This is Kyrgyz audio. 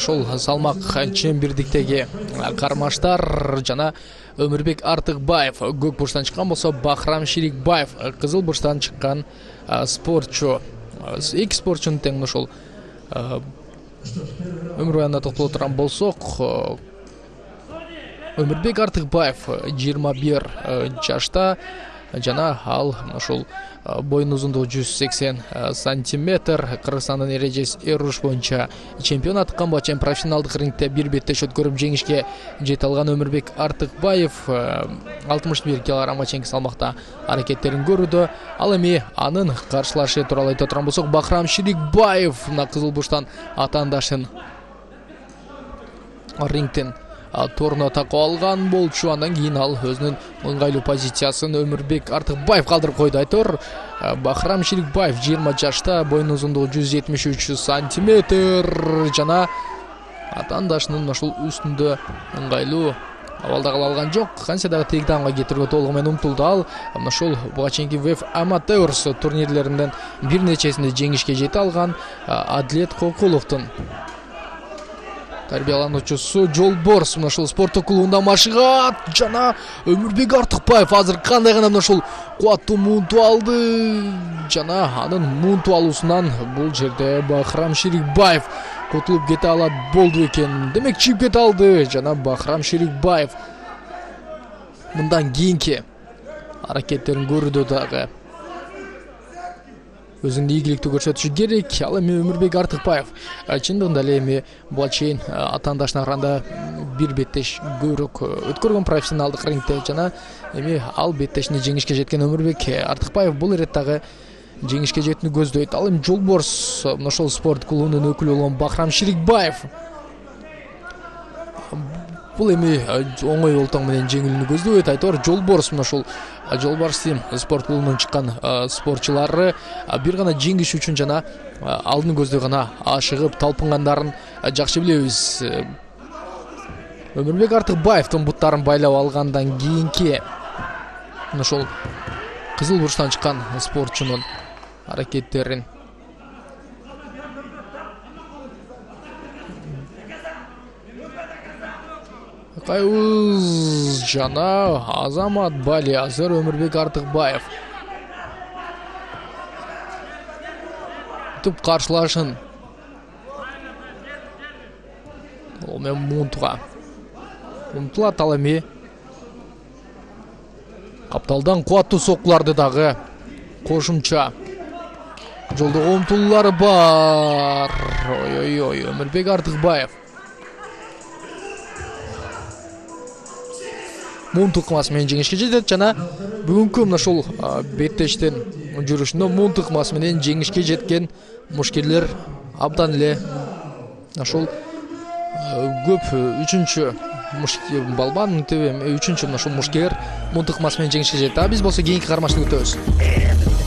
ошол салмак чембирдиктеги кармаштар жана Өмүрбек Артыкбаев көк бурчтан чыккан болсо, Бахрам Ширикбаев кызыл бурчтан чыккан спортчу. Эки спортчунун тең ошол өмүр баянына токтоло турган болсок, Өмүрбек Артыкбаев 21 жашта жана ал ошол боюн узундугу 180 сантиметр. Кыргызстандын эрежеси эруш боюнча чемпион аткан чейин профессионалдык рингде бир беттеш өткөрүп жеңишке жете алган Өмүрбек Артыкбаев 61 килограммга чейинки салмакта аракеттерин көрүүдө. Ал эми анын каршылашы тууралуу айта турган болсок, Бахрам Ширикбаев мына кызыл бурчтан атаандашын рингден торуна такып алган болчу. Андан кийин ал өзүнүн ыңгайлуу позициясын Өмүрбек Артыкбаев калтырып койду. Айтор Бахрам Ширикбаев 20 жашта, боюн узундугу 173 сантиметр жана атаандашынын ошол үстүндө ыңгайлуу абалда кала алган жок. Кантсе дагы тейктаунга кетирүүгө толугу менен умтулду. Ал ошол буга чейинки WEF Amateurs турнирлеринен бир нечесинде жеңишке жете алган Адлет Кокуловдун тарбиялануучусу Жолборс ошол спорттук клубунда машыгат жана Өмүрбек Артыкбаев азыр кандай гана ошол кубаттуу муунту алды жана анын муунту алуусунан бул жерде Бахрам Ширикбаев кутулуп кете алат болду экен. Демек чыгып кете алды жана Бахрам Ширикбаев мындан кийинки аракеттерин көрүүдө дагы өзүнүн ийгиликтүү көрсөтүшү керек. Ал эми Өмүрбек Артыкбаев чындыгында эле эми буга чейин атаандашына караганда бир беттеш көбүрөөк өткөргөн профессионалдык рингде жана эми ал беттешинде жеңишке жеткен Өмүрбек Артыкбаев бул иретте жеңишке жетүүнү көздөйт. Ал эми Жолборс ошол спорт клубунун өкүлү болгон Бахрам Ширикбаев бул эми оңой олтоң менен жеңүүнү көздөйт. Айтор Жолборс ошол Жолборс Тим спорт клубунан чыккан спортчулары бир гана жеңиш үчүн жана алдын көздөй гана ашыгып талпынгандарын жакшы билебиз. Өмүрбек Артыкбаевдин буттарын байлап алгандан кийинки ошол кызыл бурчтан чыккан спортчунун аракеттерин Кайыз жана Азамат Бали азыр Өмүрбек Артыкбаев туп каршылашын ол менен муунтуга умтулат. Ал эми капталдан кубаттуу соккуларды дагы кошумча жолдого умтулуулары бар. Ой Өмүрбек Артыкбаев муунту ыкмасы менен жеңишке жетет жана бүгүнкү мына ошол беттештин жүрүшүндө муунту ыкмасы менен жеңишке жеткен мушкерлер абдан эле ошол көп үчүнчү балбан үчүнчү ошол мушкер муунту ыкмасы менен жеңишке жетти. Биз болсо кийинки кармашты күтөбүз.